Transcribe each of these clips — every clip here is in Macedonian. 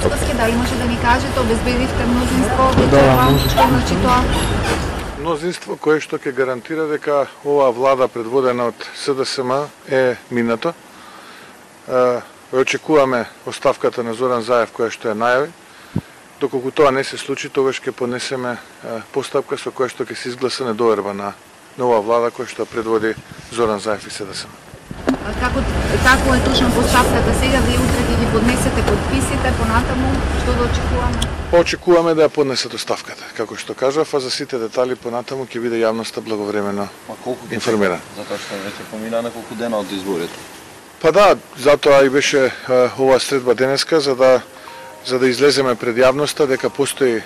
Мицкоски, дали може да ни кажете, обезбедивте мнозинство, што значи тоа? Мнозинство кое што ќе гарантира дека оваа влада предводена од СДСМ е минато. Очекуваме оставката на Зоран Заев која што ја најави. Доколку тоа не се случи, тогаш ќе понесеме постапка со која што ќе се изгласа недоверба на нова влада која што предводи Зоран Заев и СДСМ. Како е точно постапката сега? Вие утре ќе ги поднесете подписите, понатаму што да очекуваме? Очекуваме да ја поднесат оставката, како што кажав, а за сите детали понатаму ќе биде јавноста благовремено информирана. Затоа што веќе помина неколку дена од изборите. Па да, затоа и беше оваа средба денеска за да излеземе пред јавноста дека постои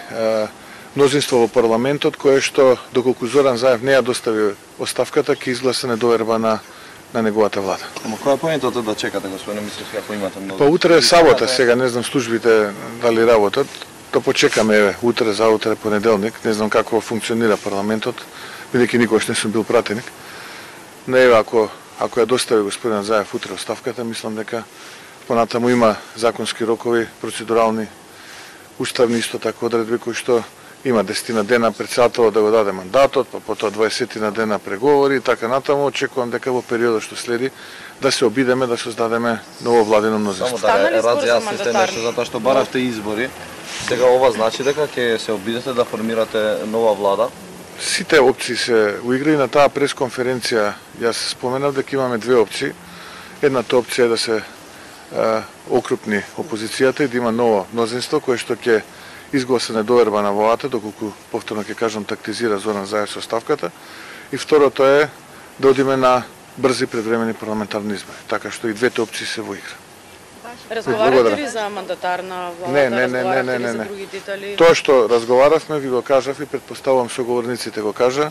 мнозинство во парламентот кое што доколку Зоран Заев не ја достави оставката ќе изгласа недоверба на неговата влада. Ама која е поентата да чекате, господине Мицкоски, ако имате многу? Па утре е сабота, сега не знам службите дали работат. Да почекаме утре, заутре, понеделник. Не знам како функционира парламентот, бидејќи никош не сум бил пратеник. Но еве ако ја достави господин Заев утре оставката, мислам дека понатаму има законски рокови, процедурални, уставни исто така одредби кои што има 10 дена председателот да го даде мандатот, па потоа 20 дена преговори и така натаму. Очекувам дека во периодот што следи да се обидеме да создадеме ново владино мнозинство. Само да разјасните нешто затоа што баравте избори. Сега ова значи дека ќе се обидете да формирате нова влада? Сите опции се уиграи на таа пресконференција. Јас споменав дека имаме две опции. Едната опција е да се окрупни опозицијата и да има ново мнозинство кое што ќе изгласа недоверба на владата, доколку повторно ќе кажам тактизира Зоран Заев со оставката. И второто е да одиме на брзи предвремени парламентарни избори, така што и двете опции се во игра. Разговарате ли за мандатар на владата? Не. Тоа што разговаравме, ви го кажав и предпоставувам соговорниците го кажа,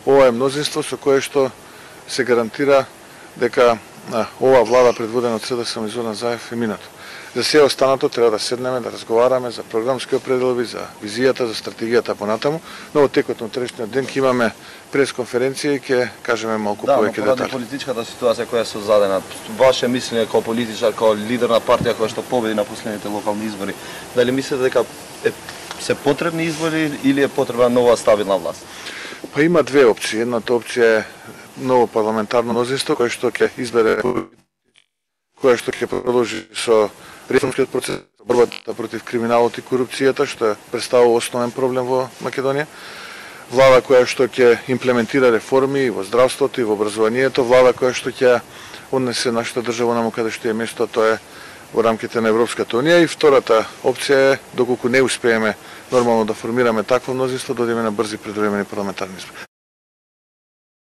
ова е мнозинство со кое што се гарантира дека оваа влада предводена од СДСМ и Зоран Заев е минато. За се останато треба да седнеме, да разговараме за програмски определби, за визијата, за стратегијата понатаму, но во текот на утрешниот ден ќе имаме пресконференција и ќе кажеме малку повеќе детали. Да, поради политичката ситуација која е создадена, ваше мислење како политичар, како лидер на партија која што победи на последните локални избори, дали мислите дека се потребни избори или е потребна нова стабилна власт? Па има две опции. Едната опција е ново парламентарно мнозинство кој што ќе избере, кој што ќе продолжи со реформскиот процес, борбата против криминалот и корупцијата, што представува основен проблем во Македонија. Влада која што ќе имплементира реформи во здравството и во образованието, влада која што ќе однесе нашата држава наму каде што е место, тоа е во рамките на Европската унија. И втората опција е, доколку не успееме нормално да формираме такво мнозинство, да одиме на брзи предвремени парламентарни избори.